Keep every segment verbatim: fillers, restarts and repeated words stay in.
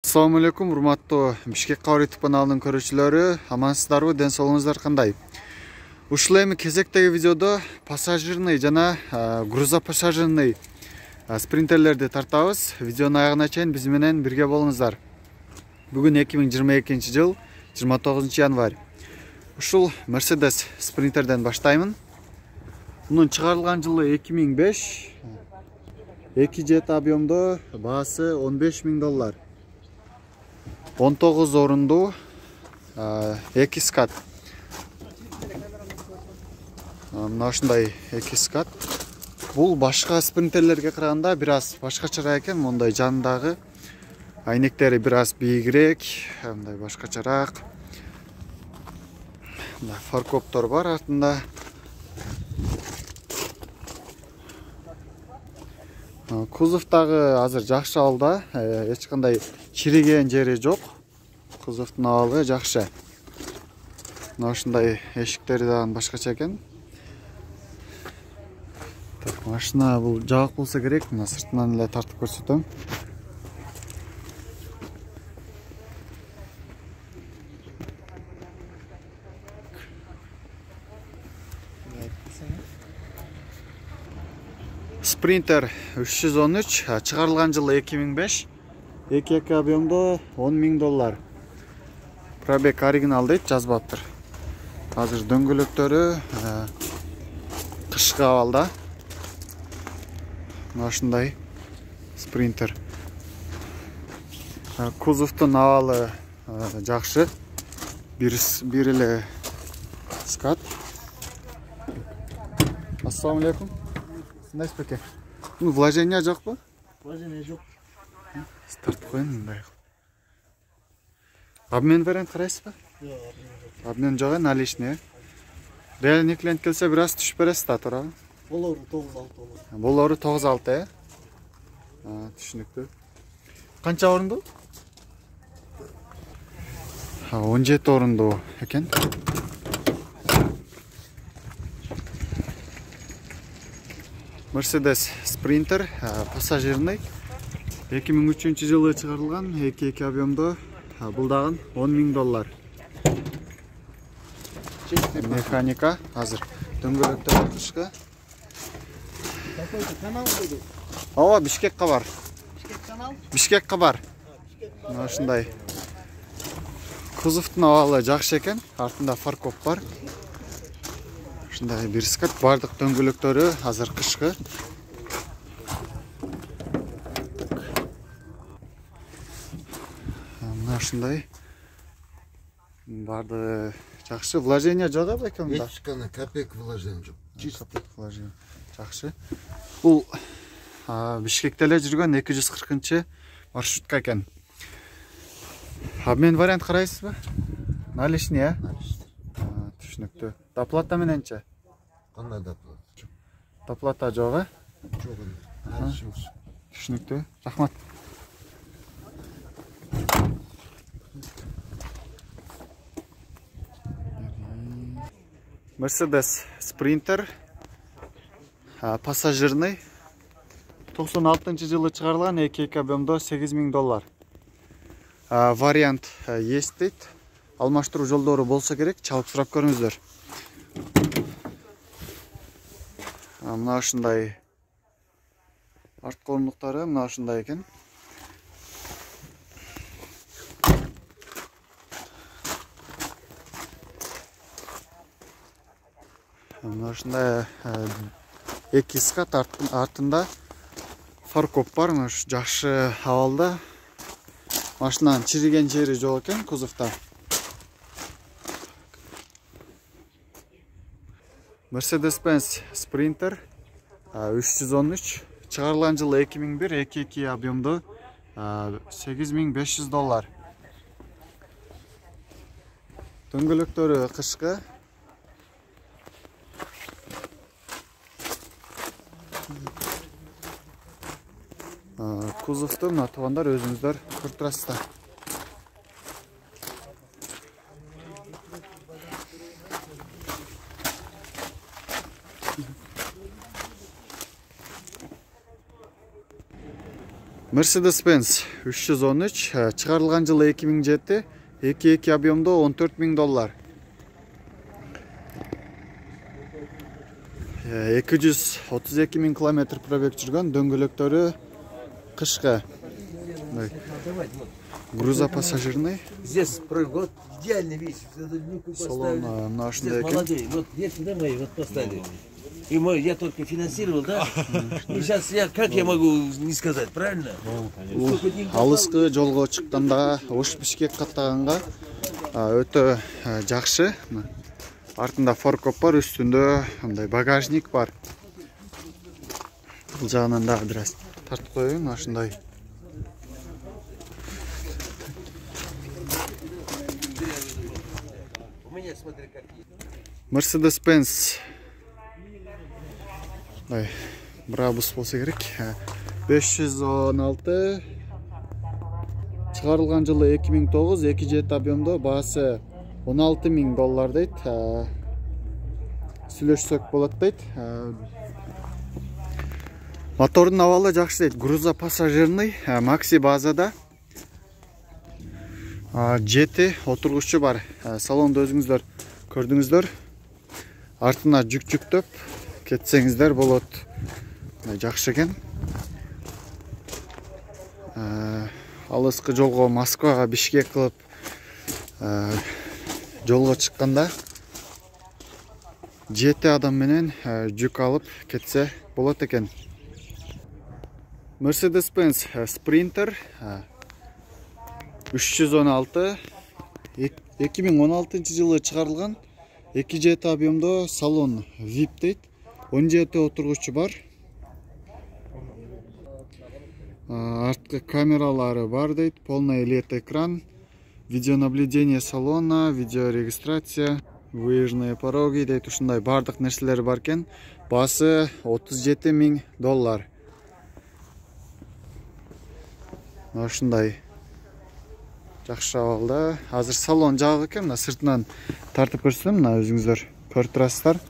Assalamu alaikum, урматтуу Бишкек кабар YouTube каналынын көрүүчүлөрү, амансыздарбы, ден соолугуңуздар кандай? Ушул эми кезектеги видеодо пассажирный жана грузопассажирный спринтерлерди тартабыз. Видеонун аягына чейин биз менен бирге болуңуздар. Бүгүн эки миң жыйырма экинчи жыл жыйырма тогузунчу январь. Ушул Mercedes спринтерден баштаймын. Мунун чыгарылган жылы эки миң беш, эки жет объемдо, баасы он беш миң доллар. он тогуз орундуу, эки скат. Мына ушундай эки скат. Бул башка спринтерлерге караганда бир аз башкачараак экен. Мондай жанындагы айнектери бир аз бийигирээк, мындай башкачараак. Мына фаркоптор бар артында. Кузовдагы азыр жакшы абалда, эч кандай чириген жери жок. Кузовдун абалы жакшы. Мына ушундай эшиктери дагы башкача экен. Так, машина бул жабык болсо керек. Мына сыртынан эле тартып көрсөтөм. Sprinter үч жүз он үч, чыгарылган жылы эки миң беш, эки эки объемдо он миң доллар. Пробег оригинал дейт, жазбаптыр. Азыр дөңгөлөктөрү кышкы абалда. Мына ушундай спринтер. Кузовдун абалы жакшы. Бир бир эле скат. Ассаламу алейкум. Кандай спеке? Ну, вложение жокпу? Вложение жок. Тартып коеюн мындай. Обмен вариант карайсызбы? Жок, обмен жок, наличный. Реальный клиент келсе бир аз түшүп бересиз да, туурабы? Болору тогуз алты болот. Болору тогуз алты, э? А, түшүнүктүү. Канча орундуу? он жети орундуу экен. Mercedes Sprinter пассажирный эки миң үчүнчү жылы чыгарылган, эки эки объемдо, бул дагы он миң доллар. Механика азыр дөңгөлөктөр кышкы. Какой-то канал койду. Ооба, Бишкек кабар. Бишкек канал? Бишкек кабар. Мына ушундай. Кузовдун абалы жакшы экен, артында фаркоп бар. Ушундай бир скат, бардык дөңгөлөктөрү азыр кышкы. Мына ушундай. Барды жакшы, вложение жок экен да. Эч кана копейка вложение жок. Чисто вложение. Жакшы. Бул Бишкекте эле жүргөн эки жүз кыркынчы маршрутка экен. Обмен вариант карайсызбы? Наличный, э? Түшүнүктүү. Доплата мененчи? Кандай доплата? Доплата жок, э? Жок эле. Түшүнүктүү. Рахмат. Mercedes Sprinter пассажирный токсон алтынчы жылы чыгарылган, эки эки объемдо сегиз миң доллар. Вариант есть дейт. Алмаштыруу жолдору болсо керек, чалып сурап көрүңүздөр. Мына ушундай арткы орундуктары мына ушундай экен. Мына ушундай эки скат, артында фаркоп бар, жакшы абалда. Машинанын чириген жери жок экен кузовдо. Mercedes-Benz Sprinter үч жүз он үч, чыгарылган жылы эки миң бир, эки эки объемдо, сегиз миң беш жүз доллар. Дөңгөлөктөрү кышкы. Кузовду мына туугандар өзүңүздөр көрүп турасыздар. Mercedes-Benz үч жүз он үч, чыгарылган жылы эки миң жети, эки эки объемдо он төрт миң доллар. эки жүз отуз эки миң километр пробег жүргөн, дөңгөлөктөрү кышкы. Грузопассажирный. Здесь вот идеальный вещь. Салон мына ушундай экен. Молодые. Вот есть сюда мои, вот поставили. И мой, я только финансировал, да? И сейчас я, как я могу не сказать, правильно? Алыскы жолго чыкканда, Ош Бишкек каттаганга өтө жакшы. Артында форкоп бар, үстүндө мындай багажник бар. Бул жагынан да бир аз тартып коеюн, ушундай. Mercedes-Benz. Ай, Brabus болсо керек. беш жүз он алты. Чыгарылган жылы эки миң тогуз, эки жети объемдо, баасы он алты миң доллар дейт. Сүйлөшсөк болот дейт. Мотордун абалы жакшы дейт. Грузопассажирный, макси базада. жети отургучу бар. Салонду өзүңүздөр көрдүңүздөр. Артына жүк жүктөп кетсеңиздер болот. Жакшы экен. Алыскы жолго Москвага, Бишкек кылып жолго чыкканда жети адам менен жүк алып кетсе болот экен. Mercedes-Benz Sprinter үч жүз он алты, эки миң он алтынчы жылы чыгарылган, эки жети объемдо, салон ви ай пи дейт, он жети отургучу бар. Арткы камералары бар дейт, полный эл и ди экран, видеонаблюдение салона, видеорегистрация, выезжные пороги дейт, ушундай бардык нерселери бар экен. Баасы отуз жети миң доллар. Ушундай жакшы абалда. Азыр салон жабык экен, мына сыртынан тартып көрсөм, мына өзүңүздөр көрүп турасыздар.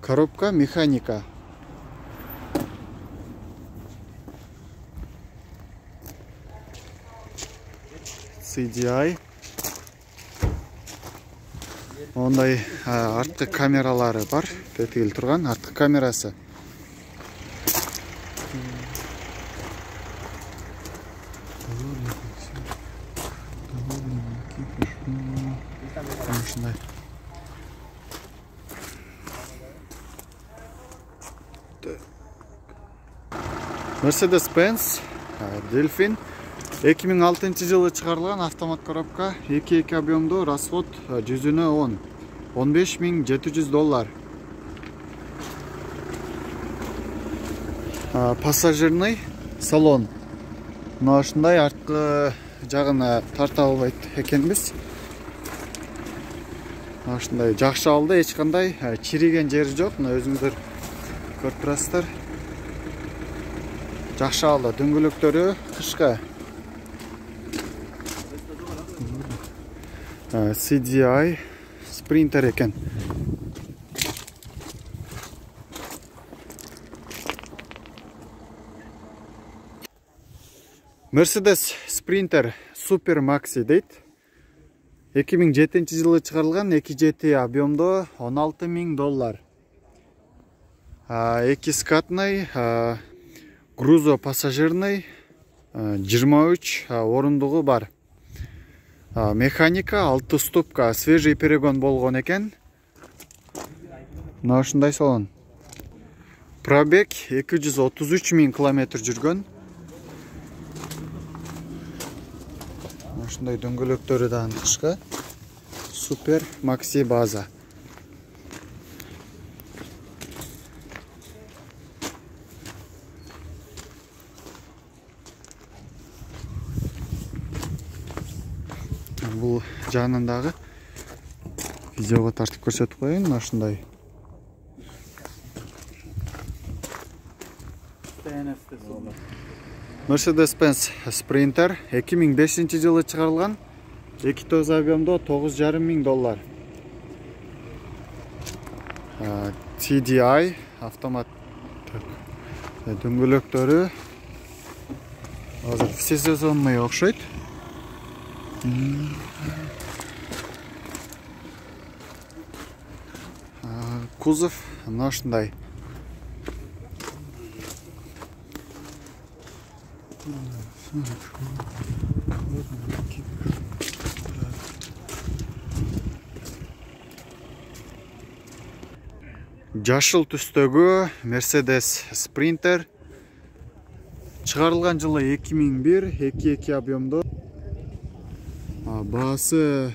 Коробка механика. си ди ай. Ондай арткы камералары бар. Тетигил турган арткы камерасы. Mercedes-Benz Delfin эки миң алтынчы жылы чыгарылган, автомат коробка, эки эки объемдо, расход жүзүнө он, он беш миң жети жүз доллар. Пассажирный салон. Мына ушундай арткы жагына тарта албайт экенбиз. Мына ушундай жакшы алды, эч кандай чириген жери жок. Мына өзүңүздөр көрүп турасыздар. Жакшы алды, дөңгөлөктөрү кышкы. си ди ай Sprinter экен. Mercedes Sprinter Super Maxi дейт. эки миң жетинчи жылы чыгарылган, эки жети объемдо, он алты миң доллар. эки скатный, грузопассажирный, жыйырма үч орундугу бар. Механика, алты ступка, свежий перегон болгон экен. Мына ушундай салон. Пробег эки жүз отуз үч миң километр жүргөн. Ушундай дөңгөлөктөрү да кышкы. Супер Макси база. Бул жагынан дагы видеого тартып көрсөтүп коеюн. Мына ушундай. Mercedes-Benz Sprinter эки миң бешинчи жылы чыгарылган, эки тогуз объемдо, тогуз жарым миң доллар. ти ди ай автомат дөңгөлөктөрү Азыр всесезонный окшойт. Кузов мына ушундай. Жашыл түстөгү Mercedes Sprinter чыгарылган жылы эки миң бир эки эки объемдо. Баасы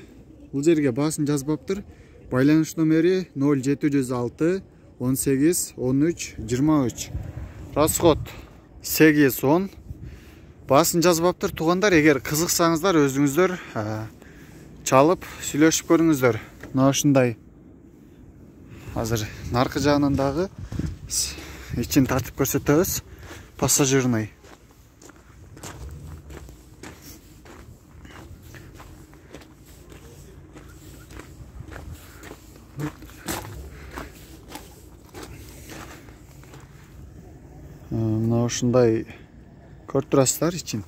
бул жерге баасын жазбаптыр. Байланыш номери ноль жети жүз алты он сегиз он үч жыйырма үч. Расход сегиз он. Баасын жазбаптыр. Туугандар, эгер кызыксаңыздар өзүңүздөр чалып сүйлөшүп көрүңүздөр. Мына ушундай. Азыр наркы жагынан дагы ичин тартып көрсөтөбүз. Пассажирный. Мына ушундай көрүп турасыздар ичин.